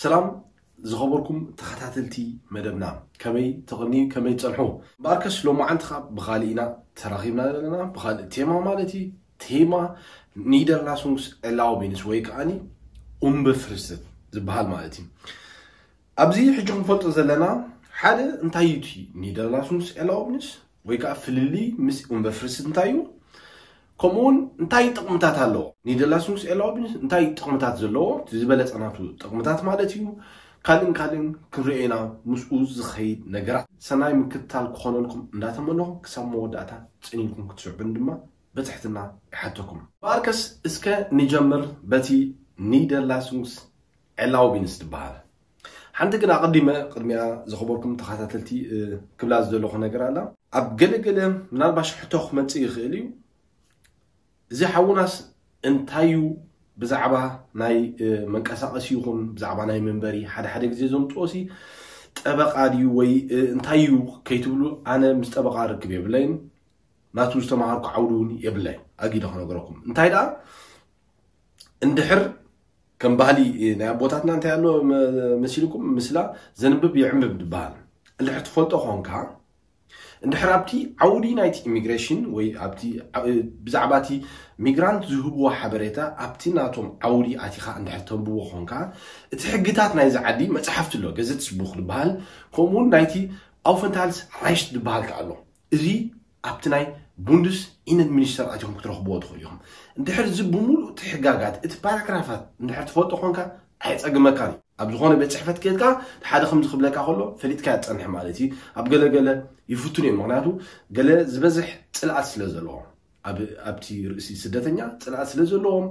ሰላም ዝኸበርኩም ተኸታተልቲ መደብና፣ ከመይ ተቐንዩ፣ ከመይ ትጸንሑ? እምበኣርከስ ሎማዓንቲ ኸኣ ብኻልእ ኢና ተራኺብና ዘለና፣ ብኻልእ ቴማ ማለት እዩ። ቴማ ኒደርላሱንግስ ኤላውቢንስ ወይ ከዓኒ ኡምበፍርስት ዝበሃል ማለት እዩ። ኣብዚ ሕጂ ክንፈልጦ ዘለና ሓደ እንታይ እዩ እቲ ኒደርላሱንግስ ኤላውቢንስ ወይ ከዓ ፍልልይ ምስ ኡምበፍርስት እንታይ እዩ? ከምኡ እውን እንታይ ጥቕምታት ኣለዎ? ኒደርላሱንግስ ኤላውቢንስ እንታይ ጥቕምታት ዘለዎ? እቲ ዝበለጸ ናቱ ጥቕምታት ማለት እዩ። ካልእን ካልእን ክንሪኦ ኢና ምስኡ ዝኸይድ ነገራት። ሰናይ ምክትታል ክኾነልኩም እንዳተመነኹ ክሳብ መወዳእታ ጽን ኢልኩም ክትስዕቡን ድማ ብትሕትና ይሓተኩም። እምበኣርከስ እስከ ንጀምር በቲ ኒደርላሱንግስ ኤላውቢንስ ዝበሃል። ሓንቲ ግን ኣቐዲመ ቅድሚያ ዝኸበርኩም ተኸታተልቲ፣ እ፣ ክብላ ዝደለኹ ነገር ኣላ። ኣብ ገለገለ ምናልባሽ ሕቶ ክመጽእ ይኽእል እዩ። እዚ ሓውናስ እንታይ እዩ ብዛዕባ ናይ፣ እ፣ መንቀሳቐሲ ይኹን ብዛዕባ ናይ መንበሪ ሓደ ሓደ ግዜ ዘምጽኦሲ ጠበቓ ድዩ ወይ፣ እ፣ እንታይ እዩ ከይትብሉ ኣነ ምስ ጠበቓ ርክብ የብለይን። ናቱ ዝተማሃርኩ ዓውዲ እውን የብለይ። ኣጊደ ክነገረኩም። እንታይ ደኣ እንድሕር ከም ባህሊ ናይ ኣቦታትና እንታይ ኣሎ መ-፣ መሲልኩም ምስላ ዘንብብ ይዕንብብ ዝበሃል። እንድሕር ትፈልጦ ኾንካ፣ እንድሕር ኣብቲ ዓውዲ ናይቲ ኢሚግሬሽን ወይ ኣብቲ ዓ-፣ ብዛዕባ እቲ ሚግራንት ዝህብዎ ሓበሬታ ኣብቲ ናቶም ዓውዲ ኣቲኻ እንድሕር ተንብቦ ኾንካ፣ እቲ ሕግታት ናይዚ ዓዲ መጽሓፍቲ ኣሎ፣ ገዘትስቡኽ ዝበሃል፣ ከምኡ እውን ናይቲ ኣውፈንታልስ ራይሽት ዝበሃል ከኣ ኣሎ። እዚ ኣብቲ ናይ ቡንድስ ኢነን ሚኒስተር ኣቲኹም ክትረኽብዎ ትኽእሉ ኢኹም። እንድሕር እዚ ብምሉእ እቲ ሕጋጋት፣ እቲ ፓራግራፋት እንድሕር ትፈልጦ ኾንካ፣ ኣየጸግመካን እዩ። ኣብ ዝኾነ ቤት ጽሕፈት ከይድካ ሓደ ከምዚ ክብለካ ከሎ ፈሊጥካ ትጸንሕ ማለት እዩ። ኣብ ገለገለ ይፍትኑ እዮም፣ ምኽንያቱ ገለ ዝበዝሕ ጽልኣት ስለ ዘለዎም፣ ኣብ-፣ ኣብቲ ርእሲ ስደተኛ ጽልኣት ስለ ዘለዎም፣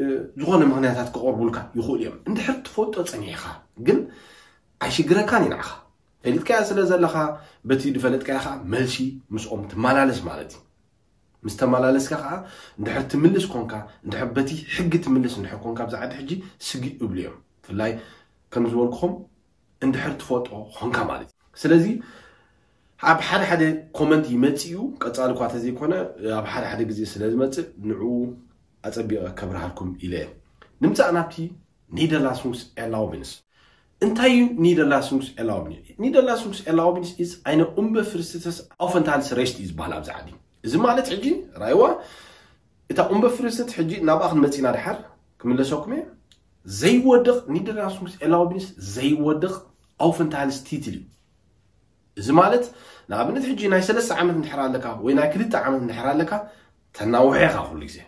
እ፣ ዝኾነ ምኽንያታት ክቐርቡልካ ይኽእሉ እዮም። እንድሕር ትፈልጦ ጸኒሕካ ግን ኣይሽግረካን እዩ ንዓኻ። ፈሊጥካያ ስለ ዘለኻ፣ በቲ ዝፈለጥካያ ኸኣ መልሲ ምስኦም ትመላለስ ማለት እዩ። ምስ ተመላለስካ ኸኣ፣ እንድሕር ትምልስ ኮንካ፣ እንድሕር በቲ ሕጊ ትምልስ እንድሕር ኮንካ፣ ኣብዚ ዓዲ ሕጂ ስግእ እብሉ እዮም። ብፍላይ ከም ዝበልኩኹም፣ እንድሕር ትፈልጦ ኾንካ ማለት እዩ። ስለዚ፣ ኣብ ሓደ ሓደ ኮመንት ይመጽእ እዩ፣ ቀጻሊ እኳ ተዘይኮነ፣ ኣብ ሓደ ሓደ ግዜ ስለ ዝመጽእ፣ ንዕኡ ኣጸቢቐ ከብርሃልኩም ኢለ እየ። ንምጻእ ናብቲ ኒደርላሱንግስ ኤላውቢንስ። እንታይ እዩ ኒደርላሱንግስ ኤላውቢንስ? ኒደርላሱንግስ ኤላውቢንስ ኢዝ ኣይነ ኡምበፍርስት ኣውፈንታልስ ሬሽት እዩ ዝበሃል ኣብዚ ዓዲ። እዚ ማለት ሕጂ ራይዋ እታ ኡምበፍርስት ሕጂ ናብኣ ክንመጽእ ኢና ድሓር ክምለሰኩም እየ። ዘይወድቕ ኒደርላሱንግስ ኤላውቢንስ ዘይወድቕ ኣውፈንታልስ ቲትል እዩ። እዚ ማለት ንኣብነት ሕጂ ናይ ሰለስተ ዓመት እንድሕር ኣለካ ወይ ናይ ክልተ ዓመት እንድሕር ኣለካ ተናውሖ ኢኻ ኩሉ ግዜ።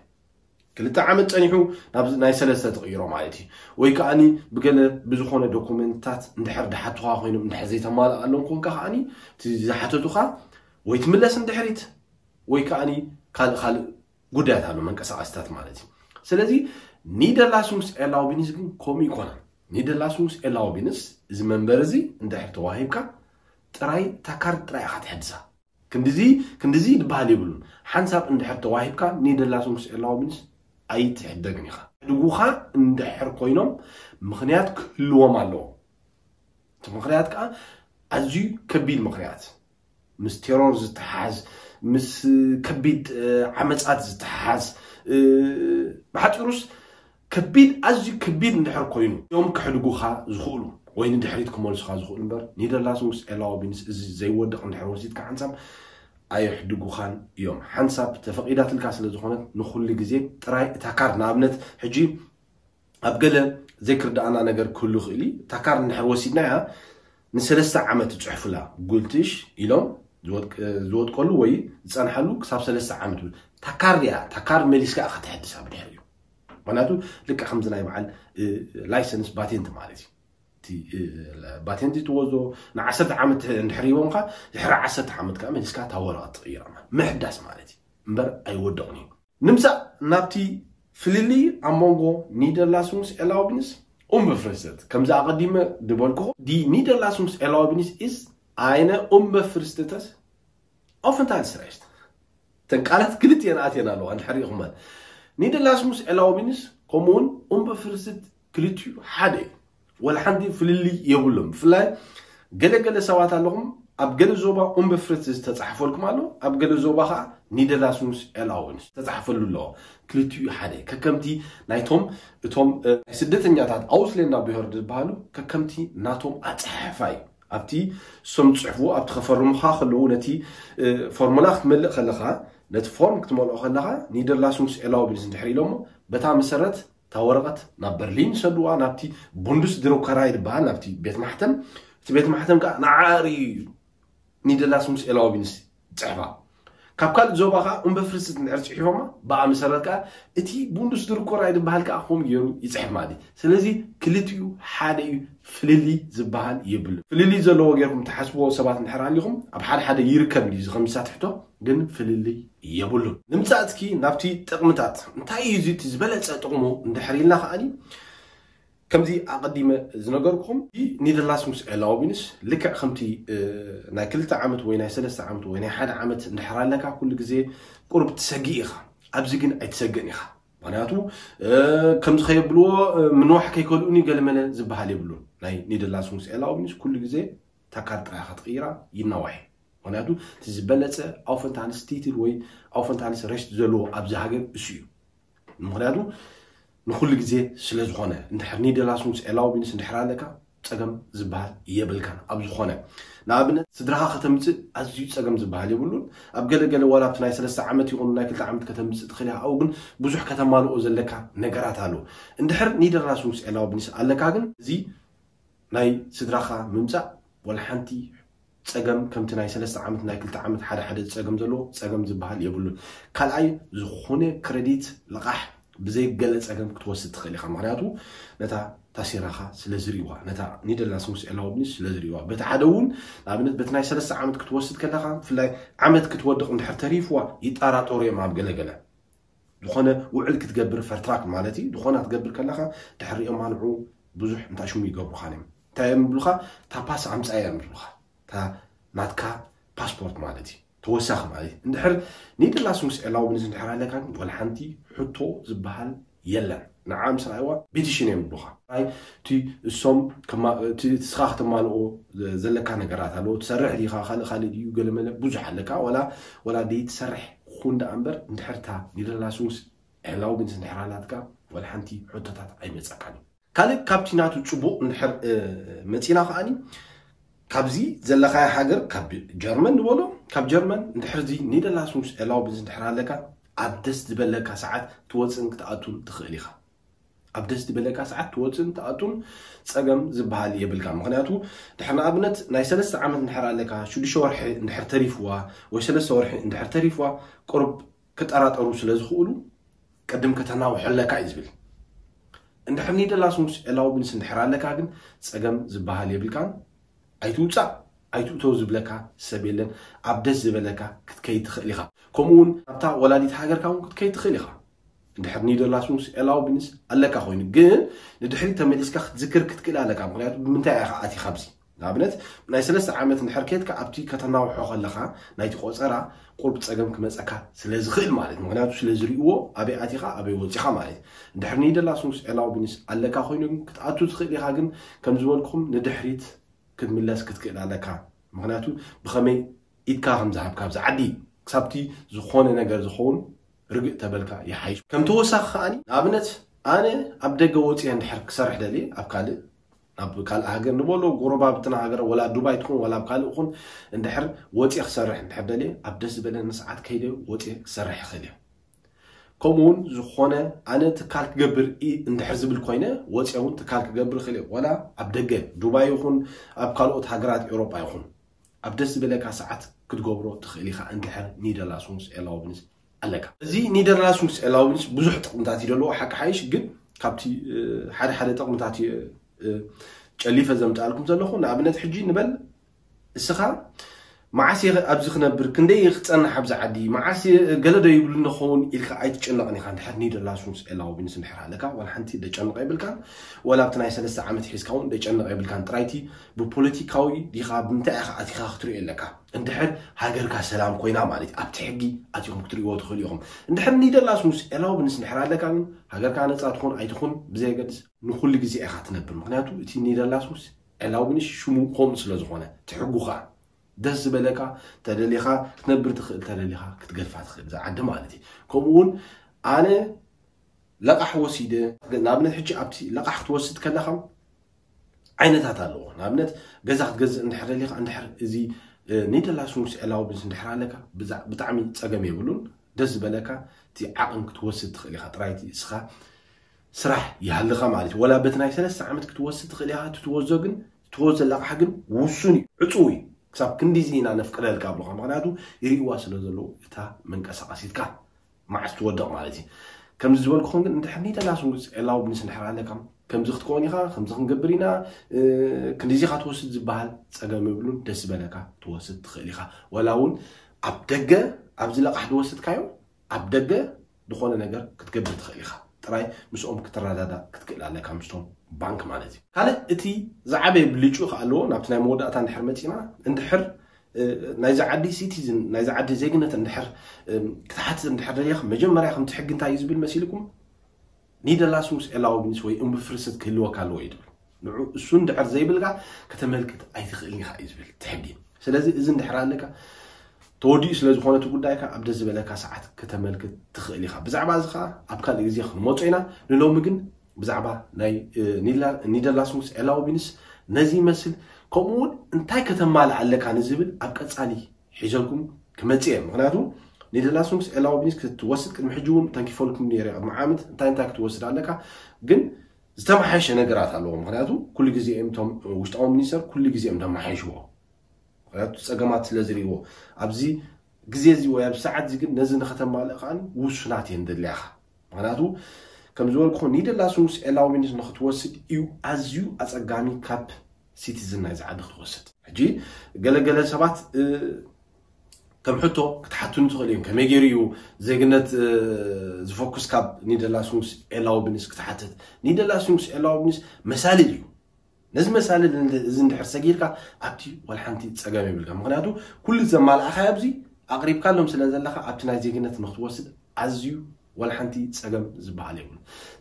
ክልተ ዓመት ጸኒሑ ናብ ናይ ሰለስተ ትቕይሮ ማለት እዩ። ወይ ከኣኒ ብገለ ብዝኾነ ዶኩመንትታት እንድሕር ድሓቱኻ ኮይኖም እንድሕር ዘይተማልኣሎም ኮንካ ከኣኒ እቲ ዝሓተቱኻ ወይ ትምለስ እንድሕሪት ወይ ከኣኒ ካልእ ካልእ ጉዳያት ኣሎ መንቀሳቐስታት ማለት እዩ። ስለዚ ኒደርላሱንግስ ኤላውቢንስ ግን ከምኡ ይኮነን። ኒደርላሱንግስ ኤላውቢንስ እዚ መንበር እዚ እንድሕር ተዋሂብካ ጥራይ እታ ካርድ ጥራይ ኢኻ ትሕድሳ። ክንድዚ ክንድዚ ዝበሃል የብሉን። ሓንሳብ እንድሕር ተዋሂብካ ኒደርላሱንግስ ኤላውቢንስ ኣይትሕደግን ኢኻ። ድጉኻ እንድሕር ኮይኖም ምኽንያት ክህልዎም ኣለዎ። እቲ ምኽንያት ከዓ ኣዝዩ ከቢድ ምኽንያት፣ ምስ ቴሮር ዝተሓዝ፣ ምስ ከቢድ፣ እ፣ ዓመጻት ዝተሓዝ፣ እ፣ ብሓጺሩስ ከቢድ፣ ኣዝዩ ከቢድ እንድሕር ኮይኑ እዮም ከሕድጉኻ ዝኽእሉ ወይ ንድሕሪት ክመልሱኻ ዝኽእሉ እምበር ኒደርላሱንግስ ኤላውቢንስ እዚ ዘይወድቕ እንድሕር ወሲድካ ሓንሳብ ኣየሕድጉኻን እዮም። ሓንሳብ ተፈቒዳትልካ ስለ ዝኾነት ንኹሉ ግዜ ጥራይ እታ ካርድ፣ ንኣብነት ሕጂ ኣብ ገለ ዘይክርድኣና ነገር ክህሉ ይኽእል እዩ። እታ ካርድ እንድሕር ወሲድናያ ንሰለስተ ዓመት ትጽሕፉላ፣ ጉልትሽ ኢሎም ዝወድቅ-፣ ዝወድቀሉ ወይ ዝጸንሓሉ ክሳብ ሰለስተ ዓመት። እታ ካርድ እያ፣ እታ ካርድ መሊስካ ኢኻ ተሕድሳ ብድሕሪኡ። ምኽንያቱ ልክዕ ከምዚ ናይ በዓል፣ እ፣ ላይሰንስ ባቴንት ማለት እዩ። እቲ፣ እ፣ ባቴንት ትወስዶ ንዓሰርተ ዓመት እንድሕር ሂቦምካ፣ ድሕሪ ዓሰርተ ዓመት ከኣ መሊስካ እታ ወረቐት ትቕይራ ማለት፣ ምሕዳስ ማለት እዩ። እምበር ኣይወድቕን እዩ። ንምጻእ ናብቲ ፍልልይ ኣብ መንጎ ኒደርላሱንግስ ኤላውቢንስ ኡምበፍርስት። ከምዚ ኣቐዲመ ዝበልኩኹ፣ ዲ ኒደርላሱንግስ ኤላውቢንስ ኢዝ ኣይነ ኡምበፍርስት ኣውፈንታልስ ሬሽት። እተን ቃላት ክልቲኤን ኣትየን ኣለዋ፣ እንድሕር ሪኢኹመን። ኒደርላሱንግስ ኤላውቢንስ ከምኡውን ኡምበፍርስት ክልቲኡ ሓደ እዩ። ወላ ሓንቲ ፍልልይ የብሎም። ብፍላይ ገለ ገለ ሰባት ኣለኹም፣ ኣብ ገለ ዞባ ኡምበፍርት ዝተጻሕፈልኩም ኣሎ፣ ኣብ ገለ ዞባ ከዓ ኒደርላስሙስ ኤላውንስ ዝተጻሕፈሉ ኣለዎ። ክልቲኡ ሓደ ከከምቲ ናይቶም እቶም እ፣ ናይ ስደተኛታት ኣውስሌንዳ ብሄር ዝበሃሉ ከከምቲ ናቶም ኣጻሓሕፋ እዩ። ኣብቲ እሶም ዝጽሕፉ ኣብቲ ከፈርሙኻ ከለዉ ነቲ እ፣ ፎርሙላ ክትመልእ ከለኻ ነቲ ፎርም ክትመልኦ ከለኻ ኒደርላስሙስ ኤላውብንስ እንድሕር ኢሎሞ በታ መሰረት እታ ወረቐት ናብ በርሊን ይሰድዋ ናብቲ ቡንዱስ ድሮከራይ ዝበሃል ናብቲ ቤት ማሕተም። እቲ ቤት ማሕተም ከዓ ንዓሪ እዩ ኒደርላስሙስ ኤላውብንስ ይፅሕፋ። ካብ ካልእ ዞባ ከዓ እምበፍርስት እንድሕር ፅሒፎማ ብኣ መሰረት ከዓ እቲ ቡንዱስ ድሮከራይ ዝበሃል ከዓ ከምኡ ገይሩ ይፅሕፍ ማለት እዩ። ስለዚ ክልቲኡ ሓደ እዩ፣ ፍልልይ ዝበሃል የብሉ። ፍልልይ ዘለዎ ገይርኩም ትሓስብዎ ሰባት እንድሕር ኣሊኹም ኣብ ሓደ ሓደ ይርከብ እዩ ከምሳት ሕቶ ግን ፍልልይ የብሉን። ንምጻእ እስኪ ናብቲ ጥቕምታት እንታይ እዩ እዚ እቲ ዝበለጸ ጥቕሙ እንድሕር ኢልና ከዓኒ ከምዚ ኣቐዲመ ዝነገርኩም ኒደርላስሙስ ኤላውቢንስ ልክዕ ከምቲ እ፣ ናይ ክልተ ዓመት ወይ ናይ ሰለስተ ዓመት ወይ ናይ ሓደ ዓመት እንድሕር ኣለካ ኩሉ ግዜ ቁሩብ ትሰግእ ኢኻ። ኣብዚ ግን ኣይትሰግእን ኢኻ። ምክንያቱ እ፣ ከምዚ ከየብልዎ እ፣ ምንዋሕ ከይከልኡኒ ገለመለ ዝበሃል የብሉን። ናይ ኒደርላስሙስ ኤላውቢንስ ኩሉ ግዜ እታ ካርድ ጥራይ ኢኻ ትቕይራ ይናዋሕ። ምክንያቱ እቲ ዝበለፀ ኣውፈንታንስ ቲትል ወይ ኣውፈንታንስ ረሽት ዘለዎ ኣብዚ ሃገር እሱ እዩ። ምክንያቱ ንኩሉ ግዜ ስለ ዝኾነ እንድሕር ኒደርላስሙስ ኤላውቢንስ እንድሕር ኣለካ ፀገም ዝበሃል የብልካን። ኣብ ዝኾነ ንኣብነት ስድራኻ ከተምፅእ ኣዝዩ ፀገም ዝበሃል የብሉን። ኣብ ገለገለ ዋላ ኣብቲ ናይ ሰለስተ ዓመት ይኹን ናይ ክልተ ዓመት ከተምፅእ ትኽእል ኢኻ። ኣብኡ ግን ብዙሕ ከተማልኦ ዘለካ ነገራት ኣሎ። እንድሕር ኒደርላስሙስ ኤላውቢንስ ኣለካ ግን እዚ ናይ ስድራኻ ምምፃእ ወላ ሓንቲ ፀገም ከምቲ ናይ ሰለስተ ዓመት ናይ ክልተ ዓመት ሓደ ሓደ ፀገም ዘለዎ ፀገም ዝበሃል የብሉን። ካልኣይ ዝኾነ ክረዲት ልቓሕ ብዘይ ገለ ፀገም ክትወስድ ትኽእል ኢኻ። ምክንያቱ ነታ ታሴራኻ ስለ ዝርእዋ ነታ ኒደርላስሙስ ኤላውብንስ ስለ ዝርእዋ በቲ ሓደ እውን ንኣብነት በቲ ናይ ሰለስተ ዓመት ክትወስድ ከለኻ ብፍላይ ዓመት ክትወድቕ እንድሕር ተሪፍዋ ይጠራጠሩ እዮም ኣብ ገለገለ ዝኾነ ውዕል ክትገብር ፈርትራክ ማለት እዩ ዝኾና ክትገብር ከለኻ ድሕሪኦም ኣንዑ ብዙሕ እንታይ ሽሙ ይገብሩኻን እዮም እንታይ እዮም ብሉኻ ታፓስ ኣምፃ እዮም ብሉኻ እታ ናትካ ፓስፖርት ማለት እዩ ተወሳኺ ማለት እዩ እንድሕር ኒደርላስሙስ ኤላውብንስ እንድሕር ኣለካ ግን ወላ ሓንቲ ሕቶ ዝበሃል የለን ንዓ ምስ ረኣይዋ ቤቲሽን እዮም ብሉኻ ራይ እቲ እሶም እቲ እስኻ ከተማልኦ ዘለካ ነገራት ኣለዎ ትሰርሕ ዲኻ ካልእ ካልእ ድዩ ገለመለ ብዙሕ ኣለካ ወላ ወላ ደይ ትሰርሕ ኩን ደኣ እምበር እንድሕር እታ ኒደርላስሙስ ኤላውብንስ እንድሕር ኣላትካ ወላ ሓንቲ ሕቶታት ኣይመፀካን እዩ ካልእ ካብቲ ናቱ ፅቡቕ እንድሕር መፂና ከዓኒ ካብዚ ዘለኻዮ ሃገር ካብ ጀርመን ንበሎ ካብ ጀርመን እንድሕር እዚ ኒደርላስሙስ ኤላውብንስ እንድሕር ኣለካ ኣብ ደስ ዝበለካ ሰዓት ትወፅእን ክትኣቱን ትኽእል ኢኻ ኣብ ደስ ዝበለካ ሰዓት ትወፅእን ትኣቱን ፀገም ዝበሃል የብልካ ምክንያቱ ድሕር ንኣብነት ናይ ሰለስተ ዓመት እንድሕር ኣለካ ሽዱሽተ ወርሒ እንድሕር ተሪፍዋ ወይ ሰለስተ ወርሒ እንድሕር ተሪፍዋ ቁሩብ ክጠራጠሩ ስለ ዝኽእሉ ቅድም ከተናውሖ ኣለካ እዩ ዝብል እንድሕር ኒደርላስሙስ ኤላውብንስ እንድሕር ኣለካ ግን ፀገም ዝበሃል የብልካን ኣይትውፃእ ኣይትእተው ዝብለካ ሰብ የለን ኣብ ደስ ዝበለካ ክትከይድ ትኽእል ኢኻ ከምኡ እውን ኣብታ ወላዲት ሃገርካ እውን ክትከይድ ትኽእል ኢኻ እንድሕር ኒደርላስሙስ ኤላውብንስ ኣለካ ኮይኑ ግን ንድሕሪት ተመሊስካ ክትዝክር ክትክእል ኣለካ ምክንያቱ ብምንታይ ኢኻ ኣቲኻ ኣብዚ ንኣብነት ናይ ሰለስተ ዓመት እንድሕር ኬድካ ኣብቲ ከተናውሖ ከለኻ ናይቲ ቆፀራ ቁርብ ፀገም ክመፀካ ስለ ዝኽእል ማለት ምክንያቱ ስለ ዝርእዎ ኣበይ ኣቲኻ ኣበይ ወፂኻ ማለት እንድሕር ኒደርላስሙስ ኤላውብንስ ኣለካ ኮይኑ ግን ክትኣቱ ትኽእል ኢኻ ግን ከም ዝበልኩም ንድሕሪት ክትምለስ ክትክእል ኣለካ ምክንያቱ ብኸመይ ኢድካ ከም ዝሃብካ ኣብዚ ዓዲ ክሳብቲ ዝኾነ ነገር ዝኸውን ርግእ ተበልካ ይሓይሽ ከም ተወሳኺ ከዓኒ ንኣብነት ኣነ ኣብ ደገ ወፅየ እንድሕር ክሰርሕ ደልየ ኣብ ካልእ ናብ ካልእ ሃገር ንበሎ ጎረባብትና ሃገር ወላ ዱባይ ትኹን ወላ ኣብ ካልእ ኹን እንድሕር ወፅየ ክሰርሕ እንድሕር ደልየ ኣብ ደስ ዝበለኒ ሰዓት ከይደ ወፅየ ክሰርሕ ይኽእል እየ ከምኡ እውን ዝኾነ ኣነ ትካል ክገብር እንድሕር ዝብል ኮይነ ወፅየ እውን ትካል ክገብር ይኽእል እየ ወላ ኣብ ደገ ዱባይ ይኹን ኣብ ካልኦት ሃገራት ኤውሮጳ ይኹን ኣብ ደስ ዝበለካ ሰዓት ክትገብሮ ትኽእል ኢኻ እንድሕር ኒደርላስሙስ ኤላውብንስ ኣለካ እዚ ኒደርላስሙስ ኤላውብንስ ብዙሕ ጥቕምታት እዩ ዘለዎ ሓቂ ሓይሽ ግን ካብቲ ሓደ ሓደ ጥቕምታት ጨሊፈ ዘምፅኣልኩም ዘለኹ ንኣብነት ሕጂ ንበል እስኻ መዓስ እየ ኣብዚ ክነብር ክንደይ እየ ክፀንሕ ኣብዚ ዓዲ መዓስ ገለ ዶ ይብሉ ንኸውን ኢልካ ኣይትጨነቕን ኢኻ እንድሕር ኒደርላስሙስ ኤላውብንስ እንድሕር ኣለካ ዋላ ሓንቲ ደጨንቕ የብልካን ወላ ኣብቲ ናይ ሰለስተ ዓመት ሒዝካ እውን ደጨንቕ የብልካን ጥራይቲ ብፖለቲካዊ ዲኻ ብምንታይ ኢኻ ኣቲኻ ክትሪኦ ኣለካ እንድሕር ሃገርካ ሰላም ኮይና ማለት ኣብቲ ሕጊ ኣቲኹም ክትሪእዎ ትኽእሉ ኢኹም እንድሕር ኒደርላስሙስ ኤላውብንስ እንድሕር ኣለካ ግን ሃገርካ ነፃ ትኹን ኣይትኹን ብዘየገድስ ንኩሉ ግዜ ኢኻ ትነብር ምክንያቱ እቲ ኒደርላስሙስ ኤላውብንስ ሽሙ ከምኡ ስለ ዝኾነ ትሕጉ ኸዓ ደስ ዝበለካ ተደሊኻ ክትነብር ትኽእል፣ ተደሊኻ ክትገድፋ ትኽእል እዛ ዓዲ ማለት እዩ። ከምኡ እውን ኣነ ለቓሕ ወሲደ፣ ንኣብነት ሕጂ ኣብቲ ለቓሕ ክትወስድ ከለኻ ዓይነታት ኣለዎ። ንኣብነት ገዛ ክትገዝእ እንድሕር ደሊኻ፣ እንድሕር እዚ ኒደላስኑስ ኤላውብንስ እንድሕር ኣለካ ብጣዕሚ ፀገም የብሉን። ደስ ዝበለካ እቲ ዓቕን ክትወስድ ትኽእል ኢኻ። ጥራይቲ እስኻ ስራሕ ይሃልኻ ማለት እዩ። ወላ በቲ ናይ ሰለስተ ዓመት ክትወስድ ትኽእል ኢኻ። እቲ ትወስዶ ግን ትወስዶ ለቓሕ ግን ውሱን እዩ፣ ዕፁው እዩ። ክሳብ ክንዲዚ ኢና ነፍቅደልካ ኣብሉኻ። ምክንያቱ ይርእዋ ስለ ዘለዉ እታ መንቀሳቐሲትካ መዓስ ትወድቕ ማለት እዩ። ከምዚ ዝበልኩኹም ግን እንድሕር ኒደላስኑስ ኤላውብንስ እንድሕር ኣለካ ከምዚ ክትከውን ኢኻ፣ ከምዚ ክንገብር ኢና፣ ክንዲዚ ኢኻ ትወስድ ዝበሃል ፀገም የብሉን። ደስ ዝበለካ ትወስድ ትኽእል ኢኻ። ወላ እውን ኣብ ደገ ኣብዚ ለቓሕ ዝወሰድካዮ ኣብ ደገ ዝኾነ ነገር ክትገብር ትኽእል ኢኻ። ጥራይ ምስኦም ክትረዳዳ ክትክእል ኣለካ ምስቶም ባንክ ማለት እዩ። ካልእ እቲ ዝዓበየ ብልጩ ከ ኣለዎ ናብቲ ናይ መወዳእታ እንድሕር መፂና እንድሕር ናይዚ ዓዲ ሲቲዝን ናይዚ ዓዲ ዜግነት እንድሕር ክትሓትት እንድሕር ደሊኻ መጀመርያ ከምቲ ሕጊ እንታይ እዩ ዝብል መሲልኩም ኒደላስኑስ ኤላውብንስ ወይ እምብፍርስት ክህልወካ ኣለዎ እዩ ዝብል። ንዑ እሱ እንድሕር ዘይብልካ ከተመልክት ኣይትኽእልን ኢኻ እዩ ዝብል እቲ ሕጊ። ስለዚ እዚ እንድሕር ኣለካ ተወዲኡ ስለ ዝኾነ እቲ ጉዳይካ ኣብ ደስ ዝበለካ ሰዓት ከተመልክት ትኽእል ኢኻ። ብዛዕባ እዚ ከዓ ኣብ ካልእ ግዜ ክንመጾ ኢና። ንሎሚ ግን ብዛዕባ ናይ ኒደላስኑስ ኤላውብንስ ነዚ ይመስል። ከምኡ እውን እንታይ ከተማልእ ኣለካ ንዝብል ኣብ ቀፃሊ ሒዘልኩም ክመፅእ እየ። ምክንያቱ ኒደላስኑስ ኤላውብንስ ክትወስድ ቅድሚ ሕጂ እውን ተንኪፈልኩም ነይረ። ቅድሚ ዓመት እንታይ እንታይ ክትወስድ ኣለካ ግን ዝተመሓየሸ ነገራት ኣለዎ። ምክንያቱ ኩሉ ግዜ እዮም እቶም ውሽጣዊ ሚኒስተር ኩሉ ግዜ እዮም ዘመሓይሽዎ። ምክንያቱ ፀገማት ስለ ዝርእይዎ ኣብዚ ግዜ እዚ ወይ ኣብ ሰዓት እዚ ግን ነዚ ንኸተማልእ ከዓ ውሱናት እየን ደልያኻ። ምክንያቱ ከም ዝበልኩ ኒደላስኑስ ኤላውብንስ ንክትወስድ እዩ ኣዝዩ ኣፀጋሚ ካብ ሲቲዝን ናይዚ ዓዲ ክትወስድ። ሕጂ ገለገለ ሰባት ከም ሕቶ ክትሓቱኒ ትኽእል እዮም። ከመይ ገይሩ እዩ ዜግነት ዝፈኩስ ካብ ኒደላስኑስ ኤላውብንስ ክትሓትት? ኒደላስኑስ ኤላውብንስ መሳልል እዩ። ነዚ መሳልል እዚ እንድሕር ሰጊርካ ኣብቲ ዋላ ሓንቲ ፀገም የብልካ። ምክንያቱ ኩሉ ዘማልኣኻዮ ኣብዚ ኣቕሪብካሎም ስለ ዘለኻ ኣብቲ ናይ ዜግነት ንክትወስድ ኣዝዩ ዋላ ሓንቲ ፀገም ዝበሃል የብሉ።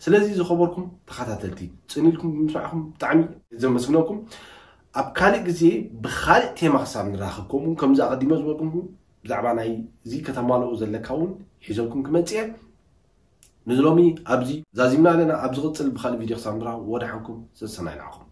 ስለዚ ዝኸበርኩም ተኸታተልቲ ፅን ኢልኩም ብምስማዕኩም ብጣዕሚ ዘመስግነኩም። ኣብ ካልእ ግዜ ብኻልእ ቴማ ክሳብ ንራኸብ ከምኡ ከምዚ ኣቐዲመ ዝበልኩም ብዛዕባ ናይ እዚ ከተማልኦ ዘለካ እውን ሒዘልኩም ክመፅእ እየ። ንዝሎሚ ኣብዚ ዛዚምና ኣለና። ኣብ ዝቕፅል ብኻልእ ቪድዮ ክሳብ ንራኸብ ወደ ሓንኩም ሰሰናይ ንዓኹም።